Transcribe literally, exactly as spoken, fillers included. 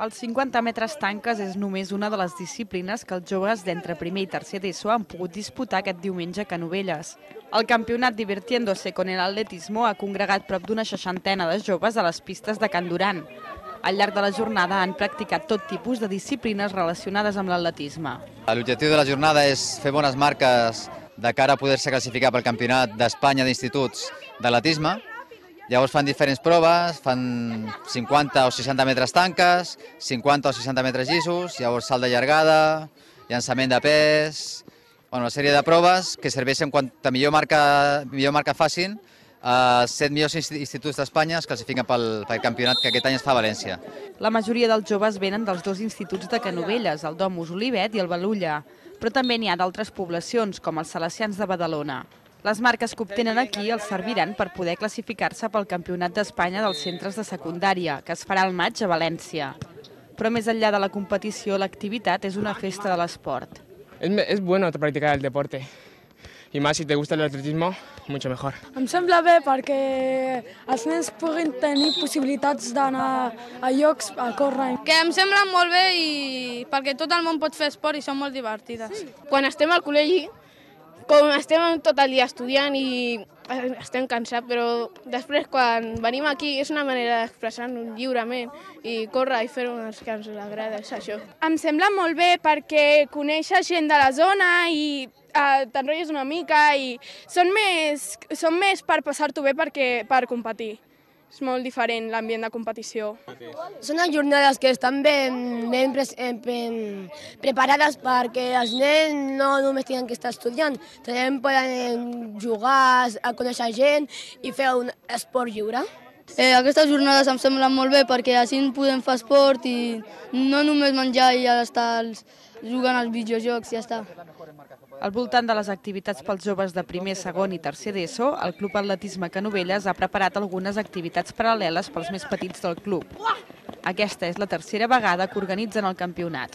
Els cinquanta metres tanques és només una de les disciplines que els joves d'entre primer i tercer d'ESO han pogut disputar aquest diumenge a Canovelles. El campionat Divirtiéndose con el Atletismo ha congregat prop d'una seixantena de joves a les pistes de Can Duran. Al llarg de la jornada han practicat tot tipus de disciplines relacionades amb l'atletisme. L'objectiu de la jornada és fer bones marques de cara a poder-se classificar pel Campionat d'Espanya d'Instituts d'Atletisme. Llavors fan diferents proves, fan cinquanta o seixanta metres tanques, cinquanta o seixanta metres llisos, llavors salt de llargada, llançament de pes, bueno, una sèrie de proves que serveixen quanta millor marca, millor marca facin. Els set millors instituts d'Espanya es classifiquen pel, pel campionat que aquest any es fa a València. La majoria dels joves venen dels dos instituts de Canovelles, el Domus Olivet i el Balulla, però també n'hi ha d'altres poblacions, com els Salesians de Badalona. Les marques que obtenen aquí els serviran per poder classificar-se pel Campionat d'Espanya dels centres de secundària, que es farà al maig a València. Però més enllà de la competició, l'activitat és una festa de l'esport. Es, es bueno practicar el deporte. I més si te gusta el atletismo, mucho mejor. Em sembla bé perquè els nens puguin tenir possibilitats d'anar a llocs a córrer. Que em sembla molt bé i perquè tot el món pot fer esport i són molt divertides. Quan estem al col·legi, com estem tot el dia estudiant i estem cansats, però després quan venim aquí és una manera d'expressar-nos lliurement i córrer i fer-ho que ens agrada, és això. Em sembla molt bé perquè coneixes gent de la zona i eh, t'enrotlles una mica i són més, són més per passar-t'ho bé perquè, per competir. És molt diferent l'ambient de competició. Són unes jornades que estan ben, ben, pre ben preparades perquè els nens no només tenen que estar estudiant, també poden jugar, a conèixer gent i fer un esport lliure. Eh, aquestes jornades em semblen molt bé perquè així podem fer esport i no només menjar i ja estar jugant als videojocs i ja està. Al voltant de les activitats pels joves de primer, segon i tercer d'ESO, el Club Atletisme Canovelles ha preparat algunes activitats paral·leles pels més petits del club. Aquesta és la tercera vegada que organitzen el campionat.